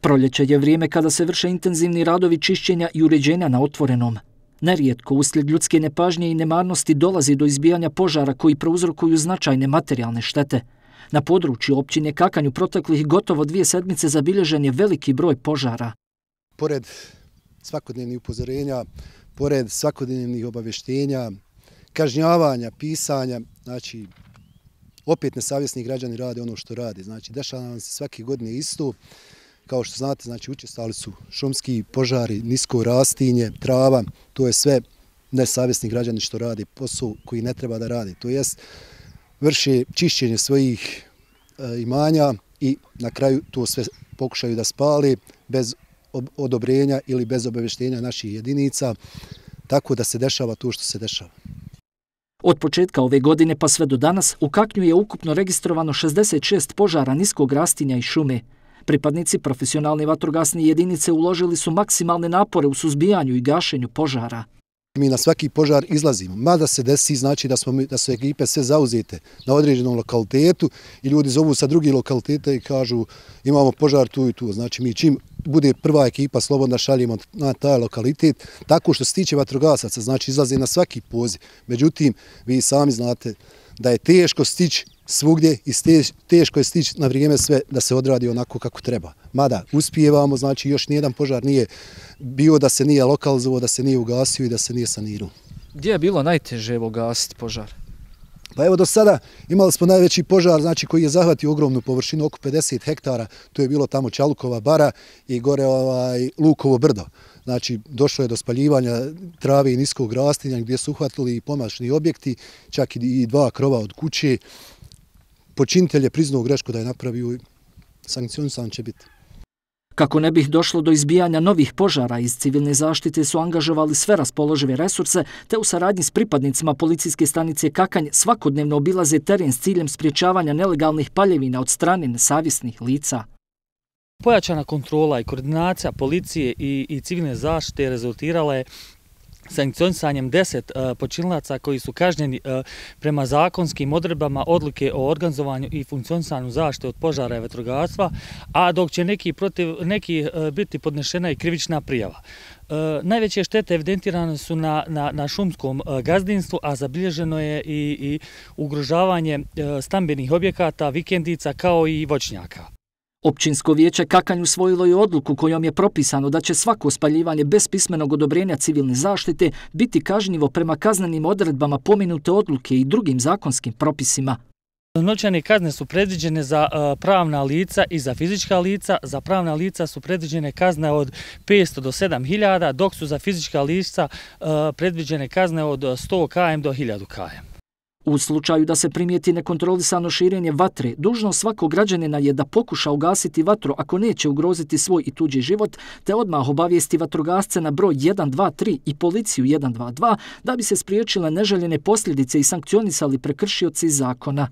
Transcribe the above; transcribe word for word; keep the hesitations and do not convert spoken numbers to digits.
Proljeće je vrijeme kada se vrše intenzivni radovi čišćenja i uređenja na otvorenom. Nerijetko, uslijed ljudske nepažnje i nemarnosti dolazi do izbijanja požara koji prouzrokuju značajne materijalne štete. Na području općine Kakanj u proteklih gotovo dvije sedmice zabilježen je veliki broj požara. Pored svakodnevnih upozorenja, pored svakodnevnih obavještenja, kažnjavanja, pisanja, znači opet nesavjesni građani rade ono što rade. Znači dešava nam se svake godine isto. Kao što znate, znači učestali su šumski požari, nisko rastinje, trava, to je sve nesavjesni građani što rade posao koji ne treba da rade. To jest vrše čišćenje svojih e, imanja i na kraju to sve pokušaju da spali bez odobrenja ili bez obavještenja naših jedinica, tako da se dešava to što se dešava. Od početka ove godine pa sve do danas u Kaknju je ukupno registrovano šezdeset šest požara niskog rastinja i šume. Pripadnici profesionalne vatrogasne jedinice uložili su maksimalne napore u suzbijanju i gašenju požara. Mi na svaki požar izlazimo, mada se desi znači da, smo, da su ekipe sve zauzete na određenom lokalitetu i ljudi zovu sa drugih lokaliteta i kažu imamo požar tu i tu. Znači mi čim bude prva ekipa slobodno šaljemo na taj lokalitet, tako što se tiče vatrogasaca, znači izlaze na svaki poziv. Međutim, vi sami znate da je teško stići svugdje i teško je stići na vrijeme sve da se odradi onako kako treba. Mada uspijevamo, znači još nijedan požar nije bio da se nije lokalizovao, da se nije ugasio i da se nije sanirao. Gdje je bilo najteže ugasiti požar? Pa evo do sada imali smo najveći požar, znači koji je zahvatio ogromnu površinu, oko pedeset hektara, to je bilo tamo Čalukova bara i gore ovaj, Lukovo brdo. Znači došlo je do spaljivanja trave i niskog rastinja gdje su uhvatili i pomašni objekti, čak i dva krova od kuće. Počinitelj je priznao grešku da je napravio i sankcionisan će biti. Kako ne bih došlo do izbijanja novih požara, iz civilne zaštite su angažovali sve raspoložive resurse, te u saradnji s pripadnicima policijske stanice Kakanj svakodnevno obilaze teren s ciljem sprječavanja nelegalnih paljevina od strane nesavjesnih lica. Pojačana kontrola i koordinacija policije i, i civilne zaštite rezultirala je sankcionisanjem deset uh, počinilaca koji su kažnjeni uh, prema zakonskim odredbama odluke o organizovanju i funkcionisanju zaštite od požara i vatrogastva, a dok će neki, protiv, neki uh, biti podnešena i krivična prijava. Uh, najveće štete evidentirane su na, na, na šumskom uh, gazdinstvu, a zabilježeno je i, i ugrožavanje uh, stambenih objekata, vikendica kao i voćnjaka. Općinsko vijeće Kakanj usvojilo je odluku kojom je propisano da će svako spaljivanje bez pismenog odobrenja civilne zaštite biti kažnjivo prema kaznenim odredbama pomenute odluke i drugim zakonskim propisima. Novčane kazne su predviđene za uh, pravna lica i za fizička lica. Za pravna lica su predviđene kazne od petsto do sedam hiljada, dok su za fizička lica uh, predviđene kazne od sto kilometara do hiljadu kilometara. U slučaju da se primijeti nekontrolisano širenje vatre, dužnost svakog građanina je da pokuša ugasiti vatru ako neće ugroziti svoj i tuđi život, te odmah obavijesti vatrogasce na broj jedan dva tri i policiju jedan dva dva da bi se spriječile neželjene posljedice i sankcionisali prekršioci zakona.